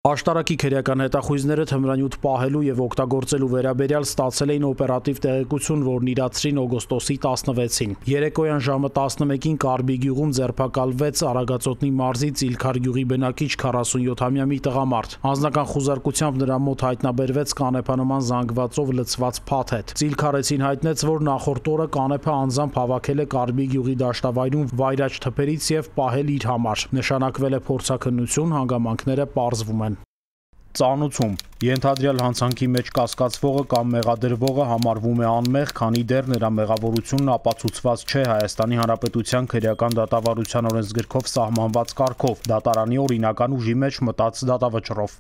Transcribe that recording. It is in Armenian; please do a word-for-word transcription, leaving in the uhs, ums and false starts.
Աշտարակի քերեական հետախույզները թմրանյութ պահելու և օգտագործելու վերաբերյալ ստացել էին օպերատիվ տեղեկություն, որն իրացրին օգոստոսի տասնվեցին։ Երեկոյան ժամը տասնմեկին Կարբի գյուղում ձերբակալվեց Արագածոտնի մարզի Ծիլքար գյուղի բնակիչ քառասունյոթամյա մի տղամարդ։ Անձնական խուզարկությամբ նրա մոտ հայտնաբերվեց կանեփանման զանգվածով լցված փաթեթ։ Ծիլքարեցին հայտնեց, որ նախորդ օրը կանեփը անձամբ հավաքել է Կարբի գյուղի դաշտավայրում վայրաճ թփերից և պահել իր համար։ Նշանակվել է փորձաքննություն, հանգամանքները պարզվում են։ Ծանուցում ենթադրյալ հանցանքի մեջ կասկածվողը կամ մեղադրվողը համարվում է անմեղ, քանի դեռ նրա մեղավորությունն ապացուցված չէ Հայաստանի Հանրապետության քրեական դատավարության օրենսգրքով սահմանված կարգով, դատարանի օրինական ուժի մեջ մտած դատավճռով։